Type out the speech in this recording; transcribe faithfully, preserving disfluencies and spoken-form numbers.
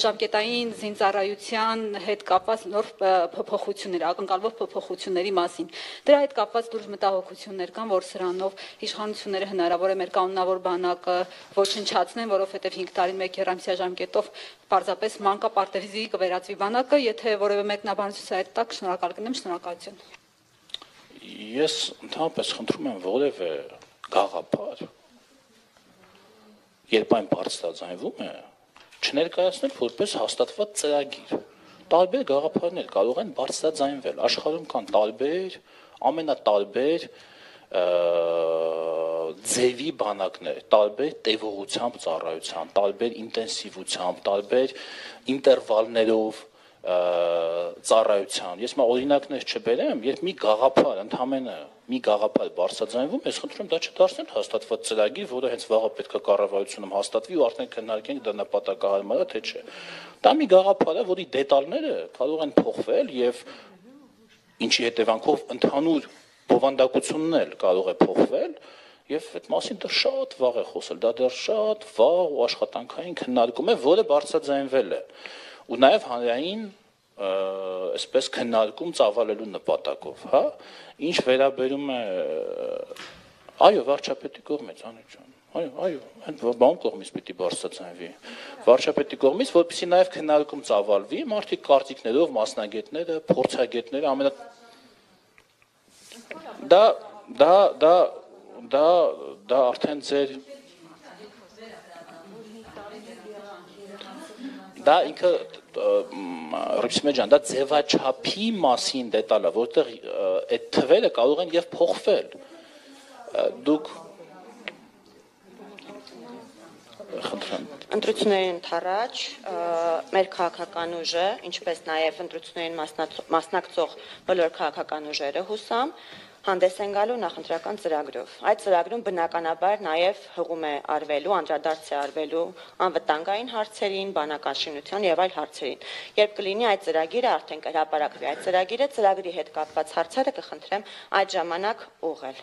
ժամկետային զինծառայության հետ կապված նոր փոփոխություններ, ակնկալվող փոփոխությունների մասին։ Դրա հետ կապված դուրս մտահոգություններ կան, որ սրանով իշխանությունները հնարավոր է մեր կանոնավոր բանակը ոչնչացնեն, որովհետև հինգ տարին մեկ երամսյա ժամկետով պարզապես մանկապարտեզի կվերածվի բանակը, եթե որևէ մեկնաբանություն այդ տակ, շնորհակալ կնեմ, շնորհակալություն։ Ես ընդհանրապես խնդրում եմ որևէ գաղափար, երբ այն բարձրաձայնվում է, չներկայացնել որպես հաստատված ծրագիր։ Տարբեր գաղափարներ կարող են բարձրաձայնվել, աշխարհում կան տարբեր, ամենատարբեր ձևի բանակներ, տարբեր տևողությամբ ծառայության, տարբեր ինտենսիվությամբ, տարբեր ինտերվալներով ծառայության։ Ես մա օրինակներ չբերեմ, երբ մի գաղափար ընդամենը մի գաղափար բարձրաձայնվում, ես խնդրում եմ դա չդարձնել հաստատված ծրագիր, որը հենց վաղը պետք է կառավարությունում հաստատվի ու արդեն քննարկենք դա նպատակահարմար է թե չէ։ Դա մի գաղափար է, որի դետալները կարող են փոխվել եւ ինչի հետևանքով ընդհանուր բովանդակությունն էլ կարող է փոխվել եւ այդ մասին դեռ շատ վաղ է խոսել, դա դեռ շատ վաղ ու աշխատանքային քննարկում է, որը բարձրաձայնվել է ու նաեւ հանրային այսպես քննարկում ծավալելու նպատակով, հա, ինչ վերաբերում է այո, վարչապետի կողմից, Անիկ ջան, այո, այո, այն բան կողմից պիտի բարձրաձայնվի, վարչապետի կողմից, որպեսզի նաեւ քննարկում ծավալվի, մարդիկ կարծիքներով, մասնագետները, փորձագետները, ամենա դա դա դա դա դա արդեն ձեր դա ինքը Ռիփսիմե ջան, դա ձևաչափի մասին դետալ է, որտեղ այդ թվերը կարող են եւ փոխվել։ Դուք Ընտրություններին ընթառաջ մեր քաղաքական ուժը, ինչպես նաև ընտրություններին մասնակցող բոլոր քաղաքական ուժերը հուսամ, հանդես են գալու նախընտրական ծրագրով։ Այդ ծրագրում բնականաբար նաև հղում է արվելու, անդրադարձ է արվելու անվտանգային հարցերին, բանական շինության եւ այլ հարցերին։ Երբ կլինի այդ ծրագիրը արդեն կհրապարակվի այդ ծրագիրը, ծրագրի հետ կապված հարցերը կխնդրեմ այդ ժամանակ ուղղել։